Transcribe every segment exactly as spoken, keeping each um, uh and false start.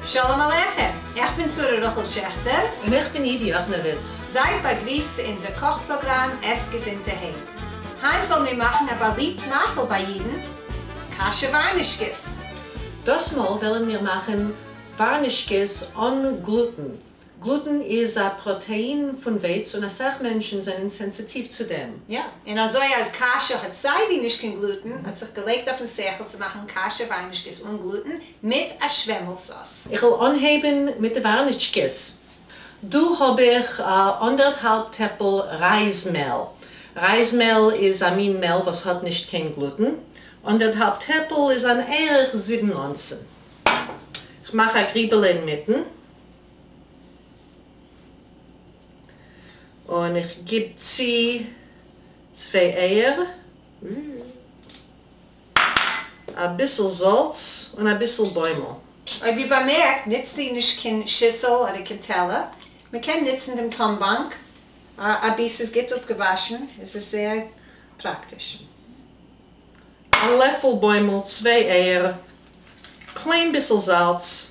שלום עליכם, איך בין שרה רחל שעכטער. און איך בין איווי יאכנעוויץ. זייט באגריסט צו אונזער קאך פראגראם עס געזונטערהייט. היינט וועלן מיר מאכן א באליבט מאכל ביי אידן, קאשע ווארנישקעס. דאס מאל וועלן מיר מאכן ווארנישקעס אן גלוטן. גלוטן איז א פראטעין פון ווייץ און אסאך מענטשן זענען סענסיטיוו צו דעם. יא, און אזוי אז קאשע האט סייווי נישט קיין גלוטן, האט זיך געלייגט אויפן שכל צו מאכן קאשע ווארנישקעס אן גלוטן מיט א שוועמל סאוס. איך וועל אנהייבן מיט די ווארנישקעס. דא האב איך אנדערטהאלב טעפל רייז מעל. רייז מעל איז א מין מעל וואס האט נישט קיין גלוטן. אנדערטהאלב טעפל איז אן ערך זיבן אונסן. איך מאך א גריבעלע אינמיטן. און איך גיב צו צוויי אייער, אביסל זאלץ און אביסל בוימל. אויב איר באמערקט, נוצט זי נישט קיין שיסל אדער קיין טעלער. מען קען נוצן דעם טאנבאנק, אבי ס'איז גוט אפגעוואשן, עס איז זייער פראקטיש. א לעפל בוימל, צוויי אייער, קליין ביסל זאלץ,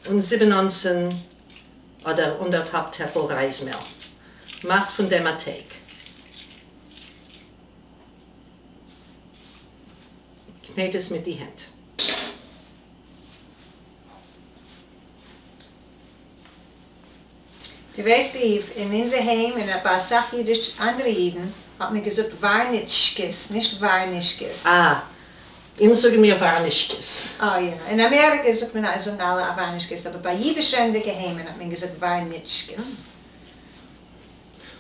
און זיבן אונסן אדער אנדערטהאלב טעפל רייזמעל. מאכט פון דעם א טייג. קנעט עס מיט די הענט. דו ווייסט איוו, אין אונזער היים און ביי אסאך אידיש אנדערע אידן האט מען געזאגט ווארניטשקעס, נישט ווארנישקעס. אה, אים זאגן מיר ווארנישקעס. אה יא, אין אמעריקע זאגט מען זאגן אלע ווארנישקעס, אבער ביי אידיש רעדנדיגע היימען האט מען געזאגט ווארניטשקעס.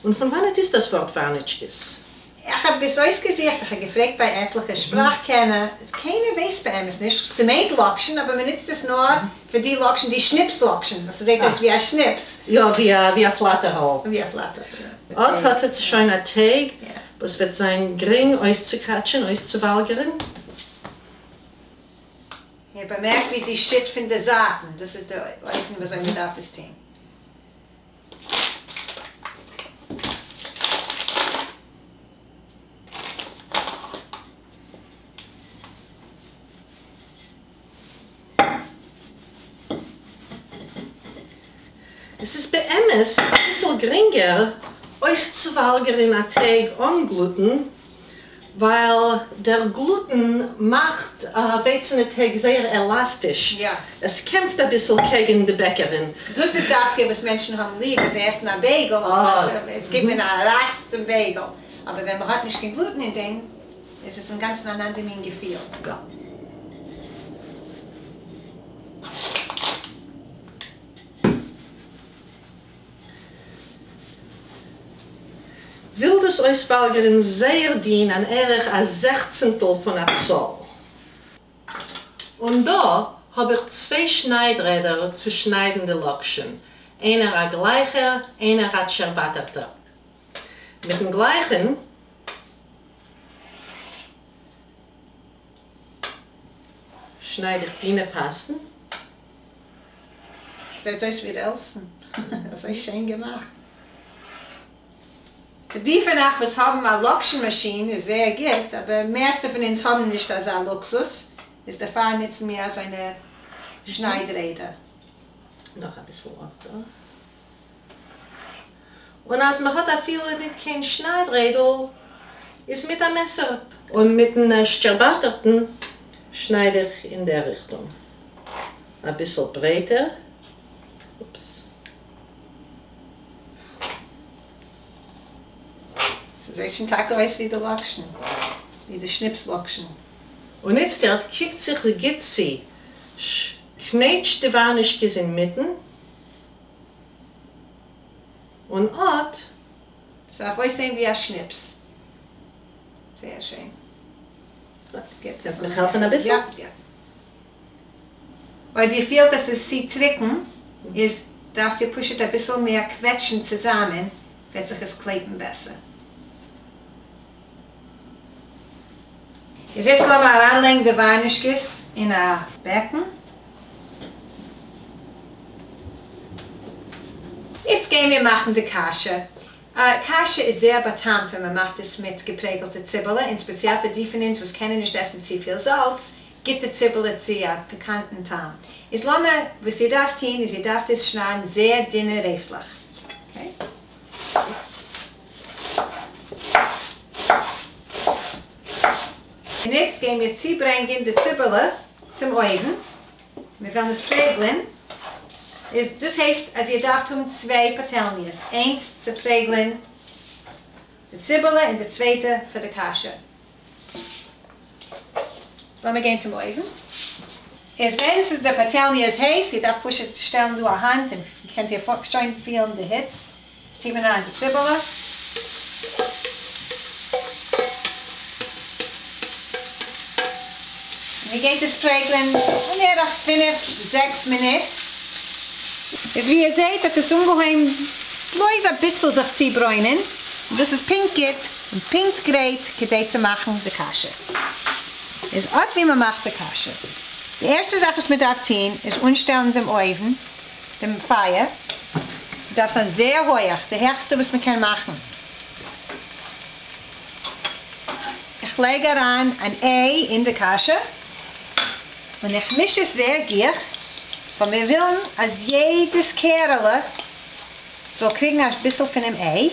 און פון וואנעט איז דאס ווארט ווארניטשקעס? איך האב עס אויסגעזוכט, איך האב געפרעגט ביי עטליכע שפראך-קענער, קיינער ווייסט באמת נישט, ס'מיינט לאקשן, אבער מען נוצט עס נאר פאר די לאקשן, די שניפס לאקשן, וואס ס'זעט אויס ווי א שניפס. יא, ווי א פלאטערהאל. ווי א פלאטערהאל, יא. אט האט עטס שוין א טייג וואס וועט זיין גרינג אויסצוקראטשען, אויסצואוואלגערן. איר באמערקט ווי זי שיט פון די זייטן, דאס איז די אופן ווי אזוי מען דארף עס טון. עס איז באמת אביסל גרינגער אויסצואוואלגערן א טייג אן גלוטן, ווייל דער גלוטן מאכט ווייצענע טייג זייער עלאסטיש, עס קעמפט אביסל קעגן די בעקערין. דאס איז דווקא וואס מענטשן האבן ליב ווען זיי עסן א בייגל, עס גיבט מען א רייס דעם בייגל, אבער ווען מען האט נישט קיין גלוטן אין דעם, איז עס אינגאנצן אן אנדער מין געפיל. יא. וויל דאס אויסוואלגערן זייער דין אן ערך א זעכצנטל פון א צאל. און דא האב איך צוויי שניידרעדער צו שניידן די לאקשן, איינער א גלייכער, איינער א טשערבאטערטער. מיטן גלייכן שנייד איך דינע פאסן. זעט אויס ווי רעלסן. אזוי שיין געמאכט. פאר די פון אייך וואס האבן א לאקשן מאשין איז זייער גוט, אבער מערסטע פון אונז האבן נישט אזא לוקסוס, איז דערפאר נוצן מיר אזוינע שניידרעדער. נאך אביסל אט דא. און אז מען האט אפילו ניט קיין שניידרעדל, איז מיט א מעסער. און מיטן שטשערבאטערטן שנייד איך אין דער ריכטונג. אביסל ברייטער. אופס. ס'זעט שוין טאקע אויס ווי די לאקשן, ווי די שניפס לאקשן. און איצטערט קוקט זיך גוט צו, קנעטשט די ווארנישקעס אינמיטן, און אט. ס'דארף אויסזען ווי א שניפס. זייער שיין. גוט, קענסט מיך העלפן אביסל? יא, יא. אויב איר פילט אז ס'איז צו טרוקן, איז דארפט איר פשוט אביסל מער קוועטשן צוזאמען, וועט זיך עס קלעפן בעסער. איז יעצט לאמיר אריינלייגן די ווארנישקעס אין א בעקן. איצט גייען מיר מאכן די קאשע. קאשע איז זייער באטעמט ווען מען מאכט עס מיט געפרעגלטע ציבעלע, און ספעציעל פאר די פון אונז וואס קענען נישט עסן צופיל זאלץ, גיט די ציבעלע צו א פיקאנטן טעם. איז לאמיר, וואס איר דארפט טון איז איר דארפט עס שניידן זייער דינע רעפטלעך. Okay. און איצט גייען מיר צוברענגען די ציבעלע צום אויוון, מיר וועלן עס פרעגלען, איז דאס הייסט אז איר דארפט האבן צוויי פאטעלניעס, איינס צו פרעגלען די ציבעלע און די צווייטע פאר די קאשע. לאמיר גיין צום אויוון. איז ווען ס'איז די פאטעלניע איז הייס, איר דארפט פשוט שטעלן דא א האנט און קענט איר שוין פילן די היץ. איז טוט מען אריין די ציבעלע. און מען גייט עס פרעגלען בערך פינף זעקס מינוט. איז ווי איר זעהט האט עס אנגעהויבן בלויז אביסל זיך צו ברוינען, און דאס איז פונקט גוט און פונקט גרייט כדי צו מאכן די קאשע. איז אט ווי מען מאכט די קאשע. די ערשטע זאך וואס מען דארף טון איז אנשטעלן דעם אויוון, דעם פייער, ס'דארף זיין זייער הויעך, די העכסטע וואס מען קען מאכן. איך לייג אריין אן איי אין די קאשע, און איך מיש עס זייער גיך, ווייל מיר ווילן אז יעדעס קערעלע זאל קריגן א ביסל פונעם איי.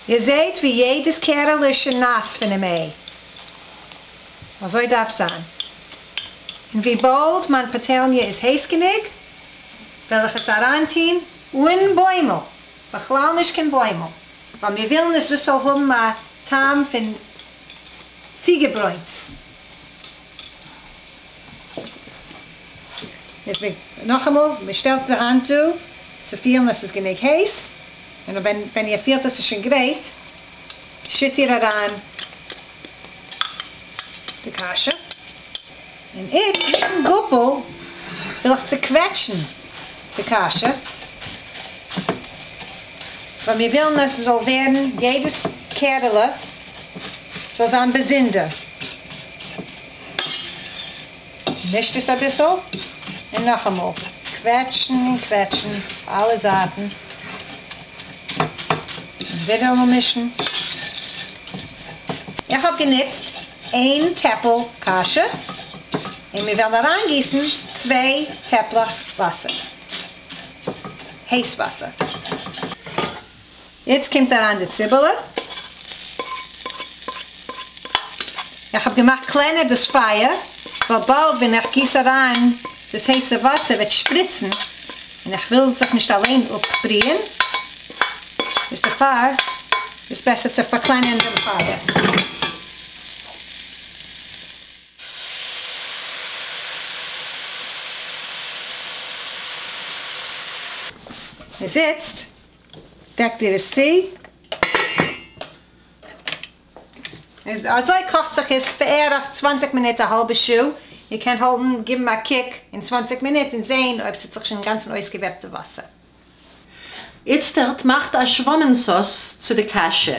איר זעהט ווי יעדעס קערעלע איז שוין נאס פונעם איי. אזוי דארף זיין. און וויבאלד מיין פאטעלניע איז הייס גענוג, וועל איך עס אריינטוהן אן בוימל, בכלל נישט קיין בוימל, ווייל מיר ווילן אז דאס זאל האבן א טעם פון צוגעברוינטס. איז מען נאכאמאל, מען שטעלט די האנט דא צו פילן אז ס'איז גענוג הייס, און ווען ווען איר פילט אז ס'איז שוין גרייט, שיט איר אריין די קאשע. און איצט מיטן גאפל וויל איך צוקוועטשן די קאשע, ווייל מיר ווילן אז ס'זאל ווערן, יעדעס קערעלע זאל זיין באזונדער. מישט עס אביסל, און נאכאמאל קוועטשן און קוועטשן אויף אלע זייטן, און ווידעראמאל מישן. איך האב גענוצט איין טעפל קאשע, און מיר וועלן אריינגיסן צוויי טעפלעך וואסער, הייס וואסער. יעצט קומט אריין די ציבעלע. איך האב געמאכט קלענער דאס פייער, ווייל באלד ווען איך גיס אריין דאס הייסע וואסער וועט שפריצן, און איך וויל זיך נישט אליין אפבריען, איז דערפאר איז בעסער צו פארקלענערן דעם פייער. איז איצט דעקט איר עס צו. איז אזוי קאכט זיך עס בערך צוואַנציק מינוט א האלבע שעה, איר קענט האלטן גיבן א קוק אין צוואַנציק מינוט און זעהן אויב ס'האט זיך שוין אינגאנצן אויסגעוועפט די וואסער. איצטערט מאכט א שוואמען סאוס צו די קאשע.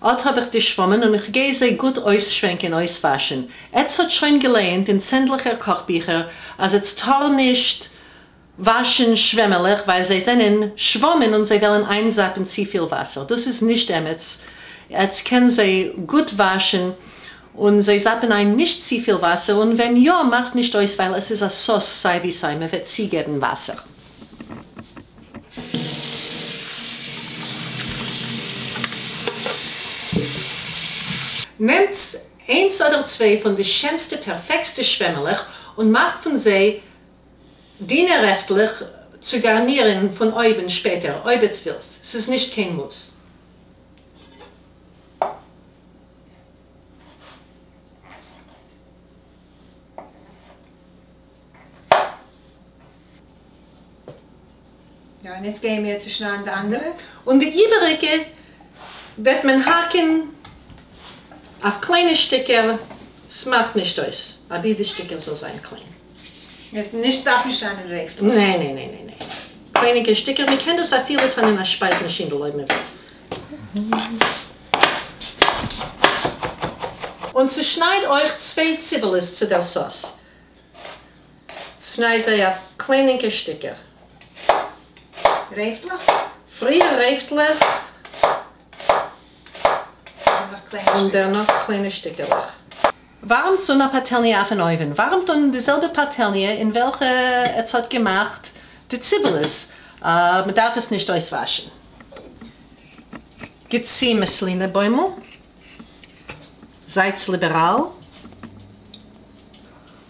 אט האב איך די שוואמען און איך גיי זיי גוט אויסשווענקען אויסוואשען. עטס האט שוין געלייענט אין צענדליגער קאך ביכער אז עטס טאר נישט וואשן שוועמעלעך ווייל זיי זענען שוואמען און זיי וועלן איינזאפן צופיל וואסער. דאס איז נישט אמת. עטס קען זיי גוט וואשן און זיי זאפן איין נישט צופיל וואסער, און ווען יא מאכט נישט אויס ווייל עס איז א סאוס סיי ווי סיי מען וועט צוגעבן וואסער. נעמטס איינס אדער צוויי פון די שענסטע פערפעקסטע שוועמעלעך און מאכט פון זיי דינע רעפטלעך צו גארנירן פון אויבן שפעטער אויב עטס ווילסט, ס'איז נישט קיין מוז. יא, און יעצט גייען מיר צושניידן די אנדערע. און די איבעריגע וועט מען האקן אויף קליינע שטיקער, ס'מאכט נישט אויס, אבי די שטיקער זאל זיין קליין. עס נישט דארף נישט זיין אין רעפטלעך. ניין ניין ניין ניין ניין. קליינע שטיקער, מען קען דאס אפילו טון אין א שפייז מאשינדל אויב מען וויל. און צושנייד אויך צוויי ציבעלעס צו דער סאוס. צושנייד זיי אויף קליינינקע שטיקער. רעפֿטלעך? פֿריִער רעפֿטלעך. און דערנאָך קליינע שטיקעלעך. וואַרעמט אָן אַ פּאַטעלניע אויפֿן אויוון. וואַרעמט אָן די זעלבע פּאַטעלניע, אין וועלכע עץ האָט געמאַכט די ציבעלעס. מע דאַרף עס נישט אויסוואַשן. גיט צו מאַסלינע-בוימל. זײַטס ליבעראַל.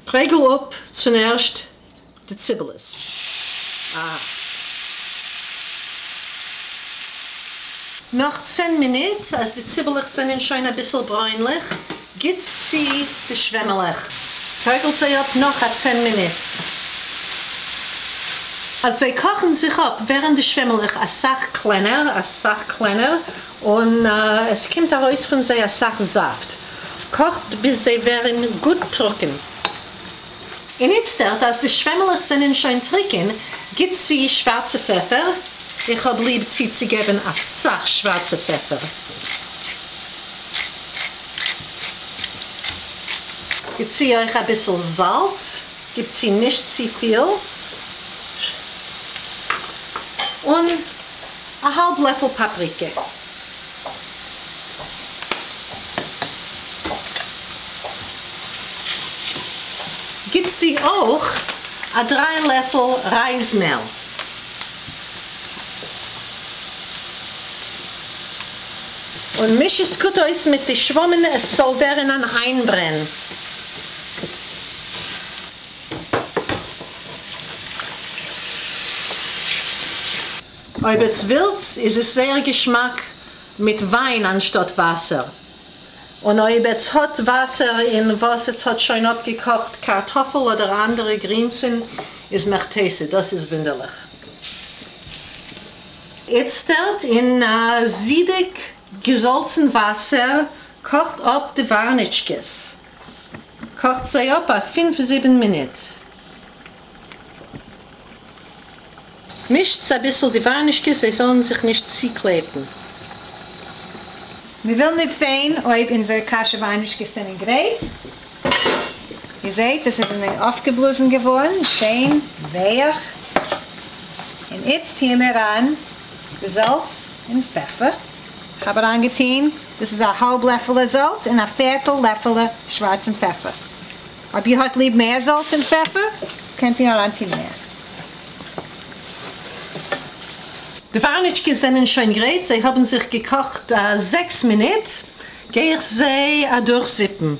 פּרעגל אָפּ צום ערשט די ציבעלעס. אַ. נאָך צען מינוט, אַז די ציבעלעך זענען שוין אַ ביסל ברוינלעך, גיט צו די שוועמעלעך. פּרעגלט זיי אָפּ נאָך אַ צען מינוט. אַז זיי קאָכן זיך אָפּ, ווערן די שוועמעלעך אַ סך קלענער, אַ סך קלענער, און עס קומט אַרויס פֿון זיי אַ סך זאַפֿט. קאָכט ביז זיי ווערן גוט טרוקן. און איצטערט, אַז די שוועמעלעך זענען שוין טרוקן, גיט צו שוואַרצע פֿעפֿער. איך האָב ליב צוצוגעבן אַ סך שוואַרצע פֿעפֿער. גיט צו אויך אַ ביסל זאַלץ, גיט צו נישט צו פֿיל, און אַ האַלב לעפֿל פּאַפּריקע. גיט צו אויך אַ דרײַ לעפֿל רײַזמעל. און מיש עס גוט אויס מיט די שוואָמען, עס זאָל ווערן אַן אײַנברען. אויב עץ ווילט, איז עס זייער געשמאַק מיט ווײַן אַנשטאָט וואַסער. און אויב עץ האָט וואַסער אין וואָס עץ האָט שוין אָפּגעקאָכט קאַרטאָפֿל אָדער אַנדערע גרינסן, איז מהיכא־תּיתי, דאָס איז וווּנדערלעך. איצטערט אין אַ זידיק געזאַלצן וואַסער קאָכט אָפּ די וואַרניטשקעס. קאָכט זיי אָפּ אַ פֿינף-זיבן מינוט. מישט אַ ביסל די וואַרנישקעס, זיי זאָלן זיך נישט צוקלעפּן. מיר ווילן איצט זען, אויב אונדזערע קאַשע־וואַרנישקעס זענען גרייט. איר זעט, עס איז אויפֿגעבלאָזן געוואָרן, שיין, ווייך. און איצט טוען מיר אָן די זאַלץ און פֿעפֿער. איך האָב אַרײַנגעטאָן, דאָס איז אַ האַלב לעפֿעלע זאַלץ און אַ פֿערטל לעפֿעלע שוואַרצן פֿעפֿער. אויב איר האָט ליב מער זאַלץ און פֿעפֿער, קענט איר אַרײַנטאָן מער. די וואַרניטשקעס זענען שוין גרייט, זיי האָבן זיך געקאָכט זעקס מינוט. גיי איך זיי אַדורכזיפּן.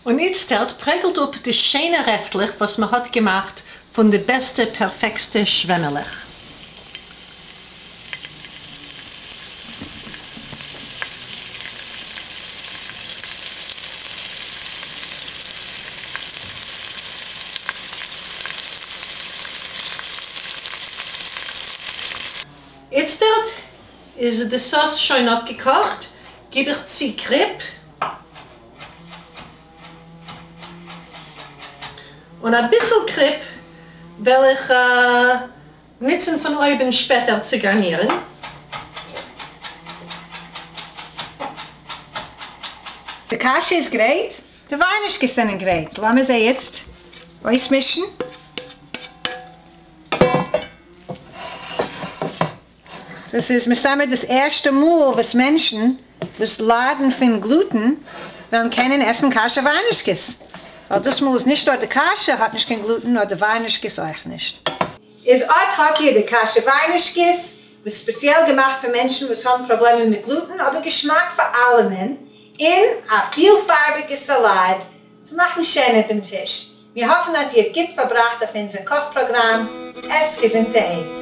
און איצטערט פּרעגלט אָפּ די שיינע רעפֿטלעך, וואָס מע האָט געמאַכט פֿון די בעסטע, פּערפֿעקטסטע שוועמעלעך. איצטערט איז די סאָס שוין אָפּגעקאָכט, גיב איך צו קריפּ און אַ ביסל קריפּ וועל איך ניצן פֿון אויבן שפּעטער צו גאַרנירן. די קאַשע איז גרייט, די וואַרנישקעס זענען גרייט. לאָמיר זיי איצט אויסמישן. דאָס איז מסתּמא דאָס ערשטע מאָל, וואָס מענטשן, וואָס ליידן פֿון גלוטן, וועלן קענען עסן קאַשע־וואַרנישקעס. ווײַל דאָס מאָל איז נישט נאָר די קאַשע האָט נישט קיין גלוטן, נאָר די וואַרנישקעס אויך נישט. איז אָט האָט איר די קאַשע־וואַרנישקעס, וואָס ספּעציעל געמאַכט פֿאַר מענטשן, וואָס האָבן פּראָבלעמען מיט גלוטן, אָבער געשמאַק פֿאַר אַלעמען, און אַ פֿילפֿאַרביקע סאַלאַט צו מאַכן שענער דעם טיש. מיר האָפֿן, אַז איר האָט גוט פֿאַרבראַכט אויף אונדזער קאָך־פּראָגראַם. עסט געזונטערהייט.